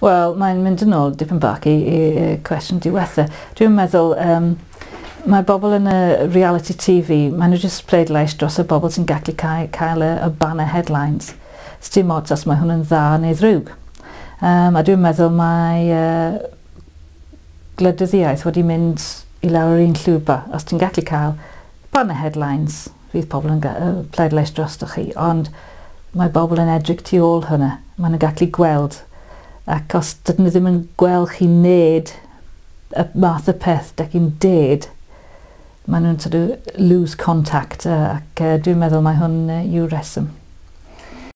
Wel, mae'n mynd yn ôl dipyn bach i i cwestiwn diwetha. Dwi'n meddwl mae bobl yn y reality TV, maen nhw jyst pleidlais dros y bobl sy'n gallu cael, cael y banner headlines. Sdim ots os mae hwn yn dda neu ddrwg. A dwi'n meddwl mae gwleidyddiaeth wedi mynd i lawr yr un llwybr. Os ti'n gallu cael banner headlines, fydd pobl yn pleidlais drostoch chi, ond mae bobl yn edrych tu ôl hwnna. Maen nhw'n gallu gweld. Ac os dydyn nhw ddim yn gweld chi wneud y math o peth da chi'n deud, maen nhw'n sort of lose contact ac dwi'n meddwl mae hwn yw reswm.